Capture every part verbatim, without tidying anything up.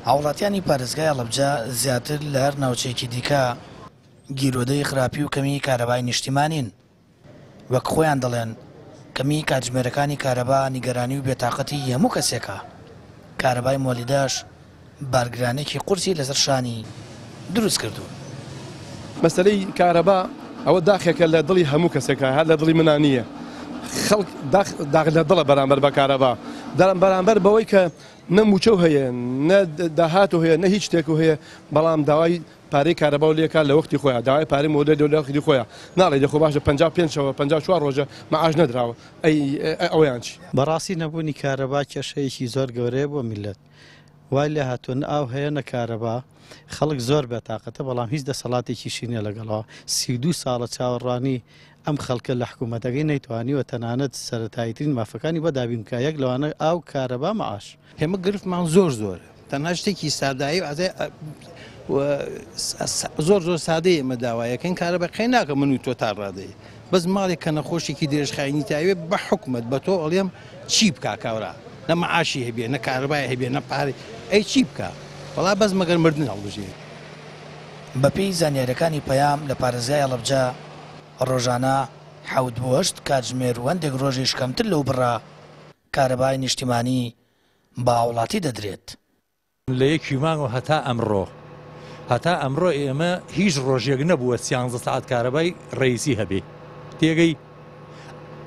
هاوڵاتیانی پارێزگای هەڵەبجە زیاتر لە هەر ناوچەیەکی دیکە گیرۆدەی خراپی و کەمی کارەبای نیشتیمانین. وەک خۆیان دەڵێن کەمی کاتژمێرەکانی کارەبا نیگەرانی و بێتاقەتی هەموو کەسێکە. کارەبای مۆلیدەش بارگرانێکی قورسی لەسەر شانی دروست کردوون. مەسەلەی کارەبا ئەوە داخێکە لە دڵی هەموو کەسێکە، هەر لە دڵی منان نییە. خەڵک داخ لە دڵە بەرامبەر بە کارەبا، بەرامبەر بەوەی کە نە موچەو هەیە، نە داهات هەیە، نە هیچ شتێک هەیە، بەڵام داوای پارەی کارەبا و لێکا لە وەختی خۆیان، داوای پارەی مۆدە لە وەختی خۆیان. ناڵێ دەخۆ باشە پەنجا و پێنجەوە پەنجا و چوار ڕۆژە مەعاش نەدراوە، ئەی ئەوەیان چی؟ بەڕاستی نەبوونی کارەبا کێشەیەکی زۆر گەورەیە بۆ میللەت. وای لێ هاتووە نە ئاو هەیە نە کارەبا، خەڵک زۆر بێتاقەتە، بەڵام هیچ دەسەڵاتێکیشی نییە لەگەڵەوە. سی و دوو ساڵە چاوەڕوانی ئەم خەڵکە لە حکوومەتەکەی نەیتوانیوە تەنانەت سەرەتاییترین مافەکانی بۆ دابین بکە، یەک لەوانە ئاو، کارەبا، مەعاش. ئێمە گرفتمان زۆر زۆرە، تەنها شتێکی سادایی زۆر زۆر سادەیە ئێمە داوایەکەین کارەبا قەی ناکە من و تۆ تا ڕادەیە، بەس ماڵێک کە نەخۆشێکی درێژخایەنی تاوێ بە حکومەت بە تۆ ئەڵێم چی بکا کاورا، نە مەعاشی هەبێ، نە کارەبای هەبێ، نە پارەی، ئەی چی بکا؟ وەڵا بەس مەگەر مردن هەڵبژێ. بەپێی زانیاریەکانی پەیام لە پارێزگای هەڵەبجە ڕۆژانە حەوت بۆ هەشت کاتژمێر و هەندێک ڕۆژیش کەمتر لەو بڕە کارەبای نیشتیمانی بە هاوڵاتی دەدرێت. لە یەکی مانگەوە هەتا ئەمڕۆ هەتا ئەمڕۆ ئێمە هیچ ڕۆژێک نەبووە سیانزە سەعات کارەبای ڕئیسی هەبێ. تێگەی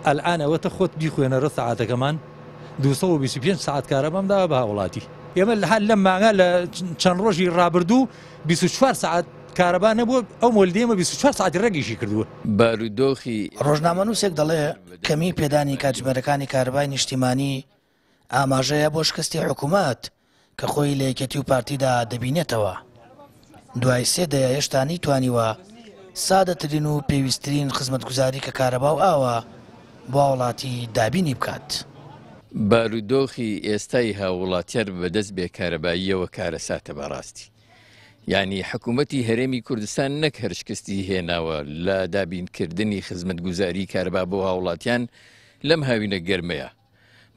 ئەلئان ئەوەتە خۆت بیخوێنەرە سەعاتەکەمان دووسەد و بیست و پێنج سەعات کارەبام داوە بە هاوڵاتی. ئێمە لە هەر لەم مانگە لە چەند ڕۆژی ڕابردوو بیست و چوار سەعات کارەبا نەبووە، ئەو مۆلیدەی ئێمە بیست و چوار سەعاتی ڕێگیشی کردووە. بارودۆخی ڕۆژنامەنووسێک دەڵێ کەمی پێدانی کاتژمێرەکانی کارەبای نیشتیمانی ئاماژەیە بۆ شکستی حکوومەت کە خۆی لە یەکێتی و پارتیدا دەبینێتەوە. دوای سێ دەیە هێشتا نەیتوانیوە سادەترین و پێویستترین خزمەتگوزاری کە کارەبا و ئاوە بۆ هاوڵاتی دابینی بکات. بارودۆخی ئێستای هاووڵاتیان بەدەست بێکارەباییەوە کارەساتە بەڕاستی. یعنی حکوومەتی هەرێمی کوردستان نەک هەر شکستی هێناوە لە دابینکردنی خزمەتگوزاری کارەبا بۆ هاوڵاتیان لەم هاوینە گەرمەیە،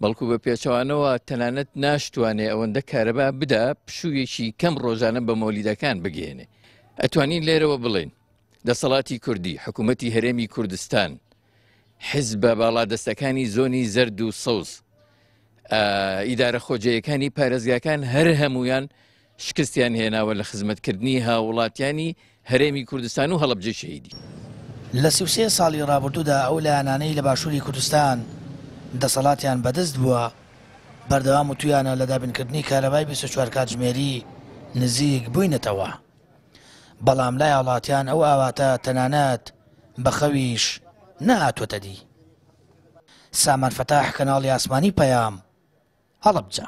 بەڵکو بە پێچەوانەوە تەنانەت ناشتوانێ ئەوەندە کارەبا بدا پشوویەکی کەم ڕۆژانە بە مۆلیدەکان بگەێنێ. ئەتوانین لێرەوە بڵێن دەسەڵاتی کوردی، حکوومەتی هەرێمی کوردستان، حیزبە باڵادەستەکانی زۆنی زەرد و سەوز، ئیدارە خۆجێیەکانی پارێزگاکان هەر هەمویان شکستیان هێناوە لە خزمەتکردنی هاوڵاتیانی هەرێمی کوردستان و هەڵەبجەی شەهیدی. لە سی و سێ ساڵی ڕابردوودا ئەو لایەنانەی لە باشووری کوردستان دەسەڵاتیان بەدەست بووە بەردەوام وتویانە لە دابینکردنی کارەبای بیست و چوار کاتژمێری نزیک بووینەتەوە، بەڵام لای هاوڵاتیان ئەو ئاواتە تەنانەت بە خەویش نەهاتووەتە دی. سامان فەتاح، کەناڵی ئاسمانی پەیام، هەڵەبجە.